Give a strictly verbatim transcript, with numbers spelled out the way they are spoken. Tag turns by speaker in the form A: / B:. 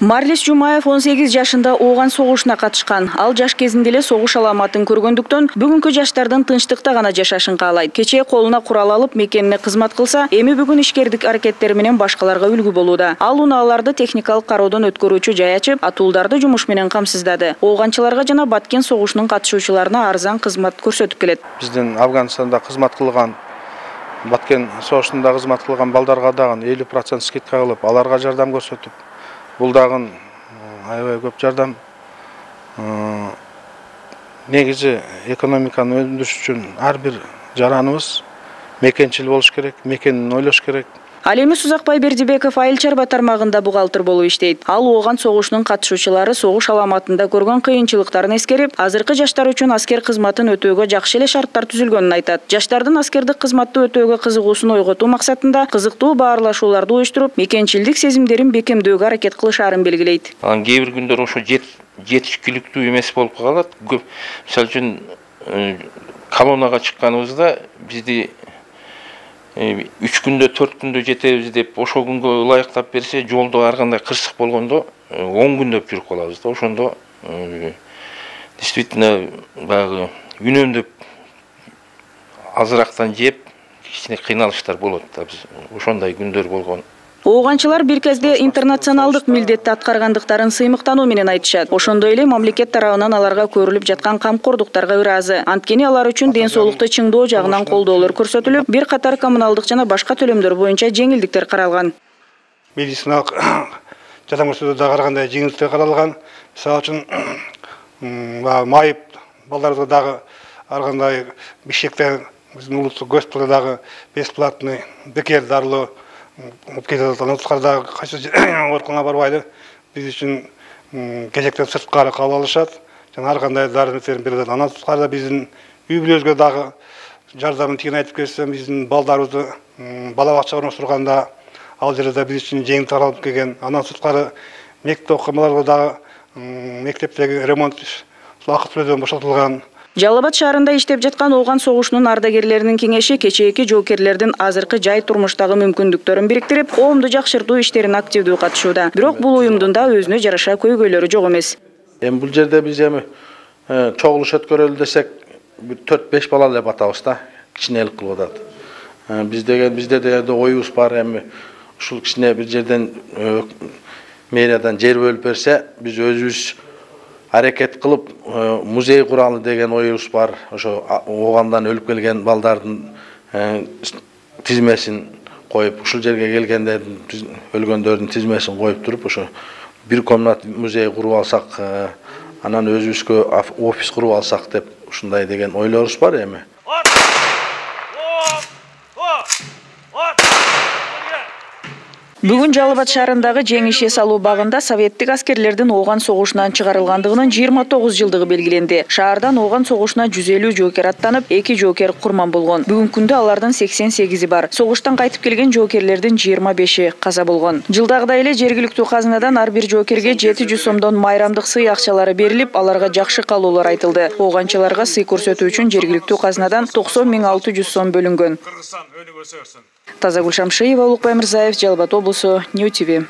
A: Марлис Жумаев он сегиз жашында ооган согушуна катышкан. Ал жаш кезинде эле согуш аламатын көргөндүктөн бүгүнкү жаштардын тынчтыкта гана жашашын каалайт. Кечээ колуна курал алып мекенине кызмат кылса, эми бүгүн ишкердик аракеттери менен башкаларга үлгү болууда. Ал унааларды техникалык кароодон өткөрүүчү жай ачып, атуулдарды жумуш менен камсыздады. Ооганчыларга жана Баткен согушунун катышуучуларына арзан кызмат көрсөтүп келет.
B: Биздин Афганистанда кызмат кылган, Баткен согушунда кызмат кылган балдарга дагы элүү процент скидка кылып, аларга жардам көрсөтүп, бул дагы аябай көп жардам. Негизи экономиканы өндүрүш үчүн ар бир жараныбыз мекенчил болуш керек, мекенин ойлош керек.
A: Ал эми Сузакбай Бердибеков айыл чарба тармагында бухгалтер болуп иштейт. Ал ооган согушунун катышуучулары согуш аламатында көргөн кыйынчылыктарын эскерип, азыркы жаштар үчүн аскер кызматын өтөөгө жакшы эле шарттар түзүлгөнүн айтат. Жаштардын аскердик кызматты өтөөгө кызыгуусун ойготуу максатында кызыктуу баарлашууларды уюштуруп, мекенчилдик сезимдерин бекемдөөгө аракет кылышаарын белгилейт.
C: Анан кээ бир күндөр ошо жетишкиликтүү эмес болуп калат. Мисалы үчүн колоннага чыкканыбызда бизди үч күндө төрт күндө жетебиз деп ошол күнгө ылайыктап берсе, жолдо ар кандай кырсык болгондо он күндөп жүрүп калабыз да. Ошондо действительно баягы үнөмдөп азырактан жеп кичине кыйналыштар болот да. Биз ошондой күндөр болгон.
A: Ооганчылар бир кезде интернационалдык милдетти аткаргандыктарын сыймыктануу менен айтышат. Ошондой эле мамлекет тарабынан аларга көрүлүп жаткан камкордуктарга ыраазы. Анткени алар үчүн ден соолукту чыңдоо жагынан колдоолор көрсөтүлүп, бир катар коммуналдык жана башка төлөмдөр боюнча жеңилдиктер каралган.
B: Медициналык жардам көрсөтүүдө дагы ар кандай жеңилдиктер каралган. Мисалы үчүн майып балдарыбызга дагы ар кандай Бишкекте биздин улуттук госпиталда дагы бесплатный бекер дарылоо Анатускарда кайсы ооруканага барбайды. Биз үчүн кезектен сырткары кабыл алышат. Жана ар кандай дары-дармектерин берет. Анатускарда биздин үй бүлөбүзгө дагы жардамын тигин айтып кетсем, биздин балдарыбызды бала бакчага орноштурганда ал жерде биз үчүн жеңил таралып келген. Анатускары мектеп окумаларга дагы мектептеги ремонт акы төлөөдөн бошотулган.
A: Жалал Абад шаарында иштеп жаткан ооган согушунун ардагерлеринин кеңеши кечээки жоокерлердин азыркы жай турмуштагы мүмкүндүктөрүн бириктирип, коомду жакшыртуу иштерине активдүү катышууда. Бирок бул уюмдун да өзүнө жараша көйгөйлөрү жок эмес.
B: Эми бул жерде биз эми чогулуш өткөрөлү десек, төрт беш бала эле батабыз да, кичинелик кылып атат. Биз деген бизде дегенде оюбуз бар, эми ушул кичине бир жерден мэриядан жер бөлүп берсе, биз өзүбүз аракет кылып музей куралы деген оюбуз бар. Ошо оогандан өлүп келген балдардын тизмесин коюп, ушул жерге келгендердин өлгөндөрдүн тизмесин коюп туруп, ошо бир комнат музей куруп алсак, анан өзүбүзгө офис куруп алсак деп ушундай деген ойлорубуз бар эми.
A: Бүгүн Жалал Абад шаарындагы Жеңиш эс алуу багында советтик аскерлердин ооган согушунан чыгарылгандыгынын жыйырма тогуз жылдыгы белгиленди. Шаардан ооган согушуна жүз элүү жоокер аттанып, эки жоокер курман болгон. Бүгүнкү күндө алардын сексен сегизи бар. Согуштан кайтып келген жоокерлердин жыйырма беши каза болгон. Жылдагыдай эле жергиликтүү казынадан ар бир жоокерге жети жүз сомдон майрамдык сый акчалары берилип, аларга жакшы калуулар айтылды. Ооганчыларга сый көрсөтүү үчүн жергиликтүү казынадан токсон миң алты жүз сом бөлүнгөн. Тазагүл Шамшиева, Улукбай Мырзаев, Жалал Абад облусу, Нью ти ви.